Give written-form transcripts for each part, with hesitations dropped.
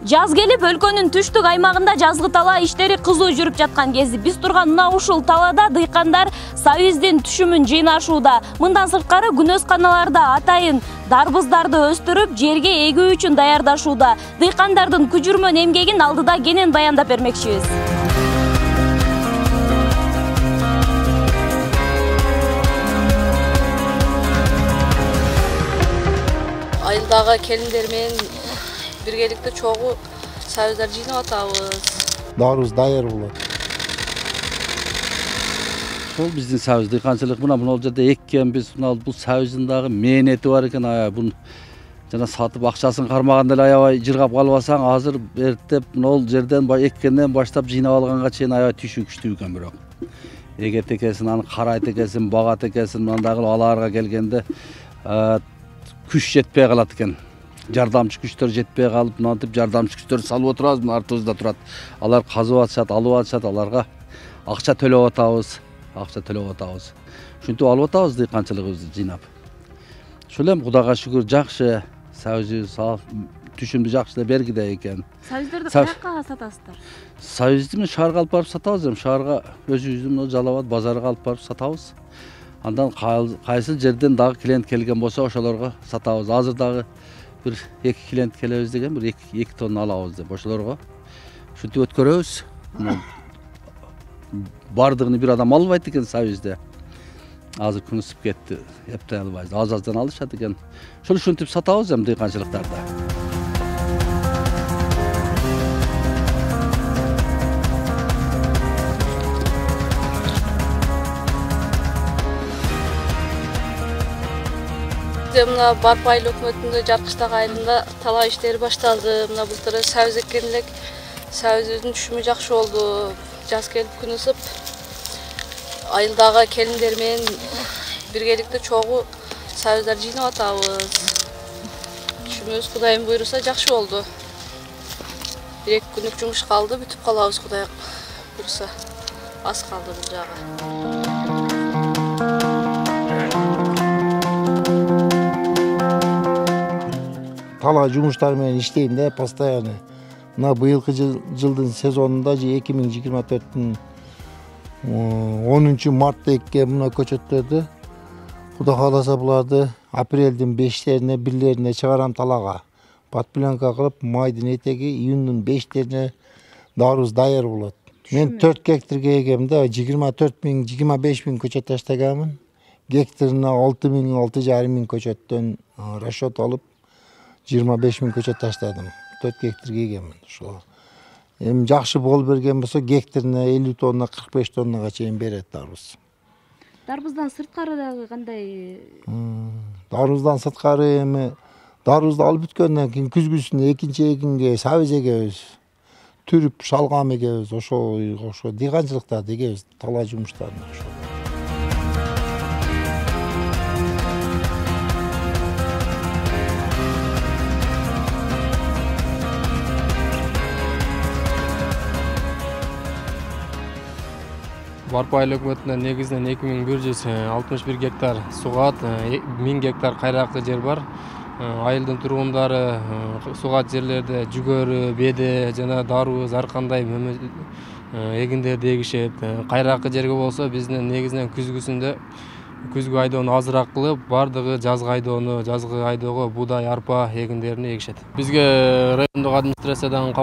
Жаз келип, өлкөнүн түштүк аймагында жазгы талаа иштери кызуу жүрүп жаткан кези биз турган мына ушул талаада дыйкандар Союздун түшүмүн жыйнашууда. Мындан сырткары күнөз каналарда атайын дарбыздарды өстүрүп, жерге эгүү үчүн даярдашууда. Дыйкандардын күжүрмөн эмгегин алдыда кенен баяндап бермекчибиз. Айылдагы келиндер менен биргеликте чогуу союздар жыйнап атабыз. Дарыбыз даяр болот. Ошол биздин союз дыйканчылык мына жерде эккенбиз. Бул союздун дагы мээнети бар экен. Бун жана сатып акчасын кармаганда эле аябай жыргап калбасаң, азыр эртеп мына жерден эккенден баштап жыйнап алганга чейин аябай түшүү күчтүү экен. Бирок эгет экенсин, аны карайт экенсин, багат экенсин, мындагы алаарга келгенде күч жетпей калат экен. Жардамчы күчтөр жетпей калып, мынтип жардамчы күчтөр салып отурабыз, мына артыбызда турат. Алар казып атышат, алып атышат, аларга акча төлөп атабыз. Ушинтип алып атабыз дыйканчылыгыбызды жыйнап. Ошол эми Кудайга шүгүр жакшы, союз түшүмдү жакшы эле бергиде экен. Союздарды каяка сатасыздар? Союзду мен шаарга алып барып сатабыз, эми шаарга өзүбүздүн Жалал Абад базарга алып барып сатабыз. Андан кайсы жерден дагы клиент келген болсо, ошолорго сатабыз. Азыр дагы бир 2 клиент келебиз деген, бир 2 тонна алабыз деп ошолорго ушинтип өткөрөбүз. Бардыгын бир адам албайт экен союзда. Азыр күн ысып кетти, эптей албайбыз. Аз-аздан алышат экен. Ошол ушинтип сатабыз эми дыйканчылыктарда. Мына Барпы айыл өкмөтүндө жаркычтагы айылында талаа иштери башталды. Мына былтыр союз эккен элек. Союздун түшүмү жакшы болду. Жаз келип күн ысып, айылдагы келиндер менен биргеликте чогуу союздар жыйнап атабыз. Түшүмүбүз Кудайым буйруса жакшы болду. 1-2 күнүк жумуш калды, бүтүп калабыз Кудай буйруса. Аз калды бул жагы. Талаа жумуштары менен иштейм да постоянно. Мына быйылкы жылдын сезонунда 2024-түн 10 мартта эккен мына көчөттөрдү Кудай кааласа буларды апрелдин 5-лерине 1-лерине чыгарам талаага. Подпленка кылып, майдын этеги июндун 5-лерине дарыбыз даяр болот. Мен 4 гектарга эгем да 24 миң көчөт таштаганмын. Гектарына 6 миң, 6,5 миң көчөттөн расчет алып 25 миң көчөт таштадым. 4 гектарга эгеммин. Ошо эми жакшы болуп берген болсо гектарына 50 тонна, 45 тоннага чейин берет дарбыз. Дарбыздан сырткары дагы кандай? Дарбыздан сырткары эми дарбызды алып бүткөндөн кийин күзгүсүнө экинчи эгинге сабыз эгебиз. Түрүп шалгам эгебиз. Ошо дыйканчылыктарды эгебиз, талаа жумуштарына ошо. Барпы айыл өкмөтүнөн негизинен 2161 гектар сугат, 1000 гектар кайракты жер бар. Айылдын тургундары сугат жерлерде жүгөрү, беде жана дарбыз ар кандай эгиндерди эгишет. Кайракты жерге болсо биздин негизинен күзгү айдоону азыраак кылып, бардыгы жазгы айдоого буудай, арпа эгиндерин эгишет. Бизге райондук администрациядан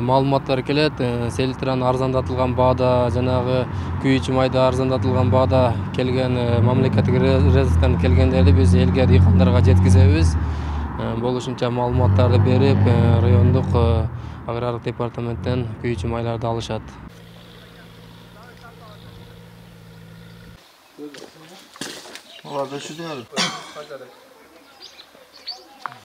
маалыматтар келет. Селитраны арзандатылган баада, жанагы күйүүчү майда арзандатылган баада келген мамлекеттик резервден келгендерди биз элге, дыйкандарга жеткизебиз. Болушунча маалыматтарды берип, райондук агрардык департаменттен күйүүчү майларды алышат. Olha, deixa eu ver.